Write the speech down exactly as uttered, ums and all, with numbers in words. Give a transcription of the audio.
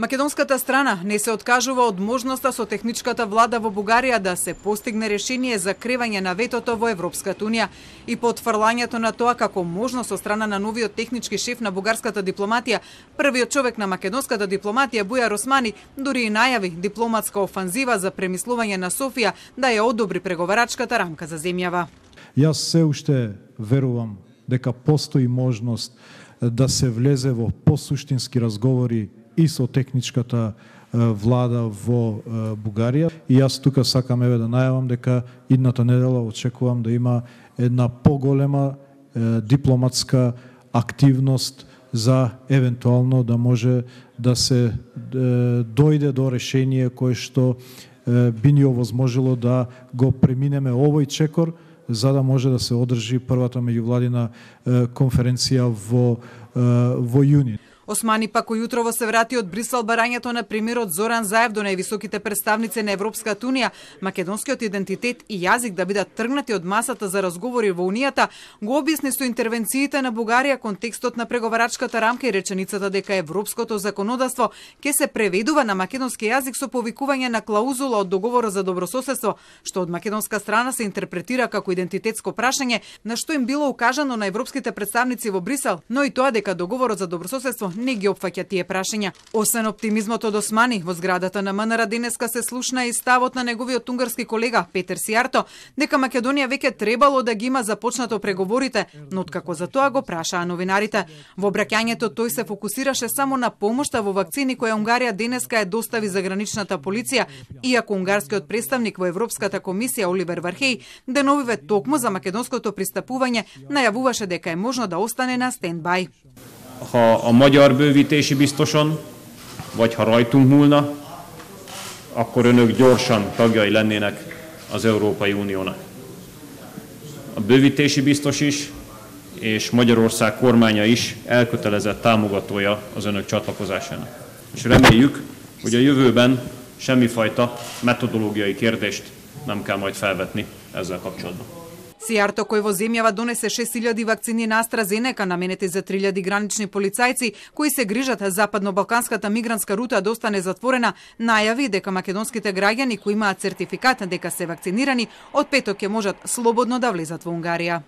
Македонската страна не се откажува од можноста со техничката влада во Бугарија да се постигне решение за кревање на ветото во Европската унија и потврлањето на тоа како можност со страна на новиот технички шеф на бугарската дипломатија, првиот човек на македонската дипломатија Бујар Османи дури и најави дипломатска офанзива за премислување на Софија да ја одобри преговарачката рамка за земјава. Јас се уште верувам дека постои можност да се влезе во посуштински разговори и со техничката влада во Бугарија. И јас тука сакам еве да најавам дека идната недела очекувам да има една поголема дипломатска активност за евентуално да може да се дојде до решение кое што би ни овозможило да го преминеме овој чекор, за да може да се одржи првата меѓувладина конференција во во јуни. Османи пак ујутрово се врати од Брисел барањето на премиерот Зоран Заев до највисоките представници на Европската унија, македонскиот идентитет и јазик да бидат тргнати од масата за разговори во унијата, го објасни со интервенциите на Бугарија контекстот на преговарачката рамка и реченицата дека европското законодавство ќе се преведува на македонски јазик со повикување на клаузула од договорот за добрососедство, што од македонска страна се интерпретира како идентитетско прашање, на што им било укажано на европските представници во Брисел, но и тоа дека договорот за добрососедство не ги опфаќа тие прашања. Освен оптимизмот од Османи, во зградата на МНР денеска се слушна и ставот на неговиот унгарски колега Петер Сијарто дека Македонија веќе требало да ги има започнато преговорите, но откако за тоа го прашаа новинарите. Во обраќањето тој се фокусираше само на помошта во вакцини која Унгарија денеска ја достави за граничната полиција, иако унгарскиот представник во Европската комисија Оливер Вархеј деновиве токму за македонското пристапување најавуваше дека е можно да остане на стендбај. Ha a magyar bővítési biztoson, vagy ha rajtunk múlna, akkor önök gyorsan tagjai lennének az Európai Uniónak. A bővítési biztos is, és Magyarország kormánya is elkötelezett támogatója az önök csatlakozásának. És reméljük, hogy a jövőben semmifajta metodológiai kérdést nem kell majd felvetni ezzel kapcsolatban. Сијарто, кој во земјава донесе шест илјади вакцини на AstraZeneca наменети за три илјади гранични полицајци кои се грижат западно-балканската мигрантска рута да остане затворена, најави дека македонските граѓани кои имаат сертификат дека се вакцинирани од петок ќе можат слободно да влезат во Унгарија.